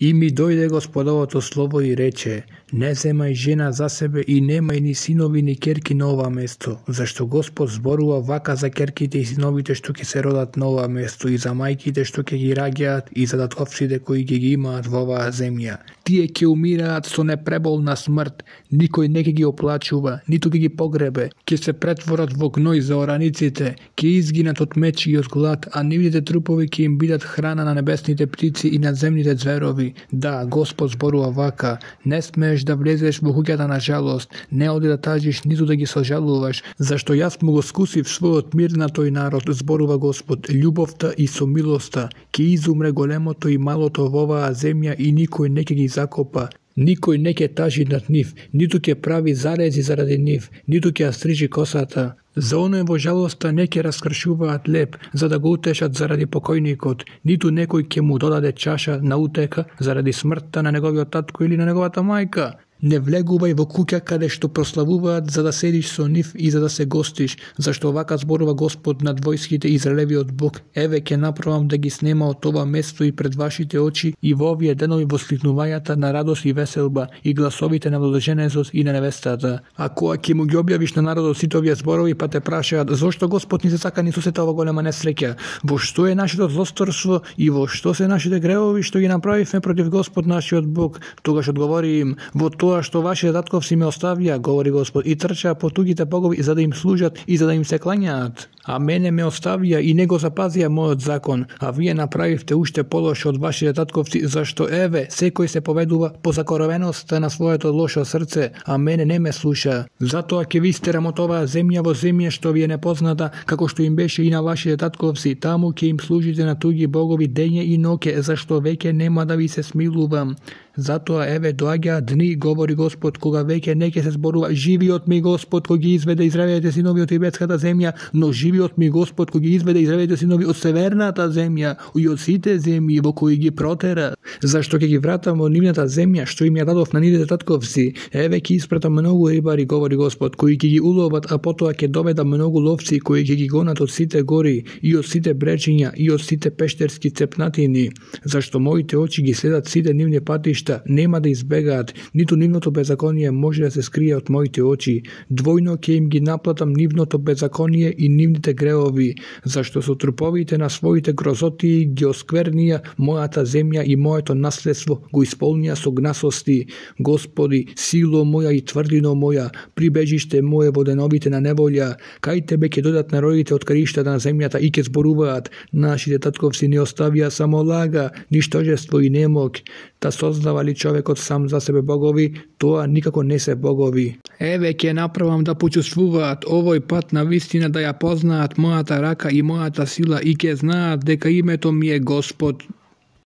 И ми дојде Господовото слово и рече: не земај жена за себе и немај ни синови ни керки на ова место, зашто Господ зборува вака за керките и синовите што ќе се родат на ова место, и за мајките што ќе ги раѓаат, и за татковците кои ќе ги имаат во оваа земја. Тие ќе умираат со непреболна смрт, никој не ќе ги оплачува, ниту ќе ги погребе, ќе се претворат во гној за ораниците, ќе изгинат од меч и од глад, а нивните трупови ќе им бидат храна на небесните птици и на земните зверови. Да, Господ зборува вака: не смееш да влезеш во куќата на жалост, не оди да тажиш, ниту да ги сожалуваш, зашто јас му го скусив својот мир на тој народ, зборува Господ. Љубовта и со милоста ќе изумре големото и малото во оваа земја и никој не ќе ги закопа. Никој не ќе тажи над нив, ниту ќе прави зарези заради нив, ниту ќе ја стрижи косата. За оној во жалоста не ќе раскршуваат леп, за да го утешат заради покојникот, ниту некој ќе му додаде чаша на утека заради смртта на неговиот татко или на неговата мајка. Не влегувај во куќа каде што прославуваат за да седиш со нив и за да се гостиш, зашто вака зборува Господ над војските, Израелевиот Бог: еве ќе направам да ги снема од ова место и пред вашите очи, и во овие денови воскликнувањата на радост и веселба, и гласовите на младоженецот и на невестата. А кога ќе му ги објавиш на народот сите овие зборови, па те прашаат: зошто Господ ни се сака ни сусета ова голема несреќа? Во што е нашето злосторство и во што се нашите гревови што ги направивме против Господ нашиот Бог? Тогаш одговори им: во тоа што вашите татковци ме оставија, говори Господ, и трчаа по туѓите богови за да им служат и за да им се клањаат. А мене ме оставија и не го запазија мојот закон, а вие направивте уште полошо од вашите татковци, зашто еве секој се поведува по закоравеноста на своето лошо срце, а мене не ме слуша. Затоа ќе ви истерам од оваа земја во земја што ви е непозната, како што им беше и на вашите татковци. Таму ќе им служите на туѓи богови дење и ноќе, зашто веќе нема да ви се смилувам. Затоа еве доаѓаат дни, говори Господ, кога веќе не ќе се зборува: живиот ми Господ кој ги изведе израелевите синови од египетската земја, но живиот ми Господ кој ги изведе израелевите синови од северната земја и од сите земји во кои ги протера. Зашто ќе ги вратам во нивната земја што им ја дадов на нивните татковци. Еве ќе испратам многу рибари, говори Господ, кои ќе ги уловат, а потоа ќе доведам многу ловци кои ќе ги гонат од сите гори и од сите бречиња и од сите пештерски цепнатини. Зашто моите очи ги следат сите нивни патишта, нема да избегаат, ниту нивното беззаконие може да се скрие од моите очи. Двојно ќе им ги наплатам нивното беззаконие и нивните гревови, зашто со труповите на своите грозоти ги осквернија мојата земја и моето наследство го исполнија со гнасости. Господи, сило моја и тврдино моја, прибежиште мое во деновите на неволја, кај тебе ќе дојдат народите од краиштата на земјата и ќе зборуваат: нашите татковци не оставија само лага, ништожество и немок. Та создава ли човекот сам за себе богови, тоа никако не се богови. Еве ќе направам да почувствуваат овој пат на вистина, да ја познаат мојата рака и мојата сила и ќе знаат дека името ми е Господ.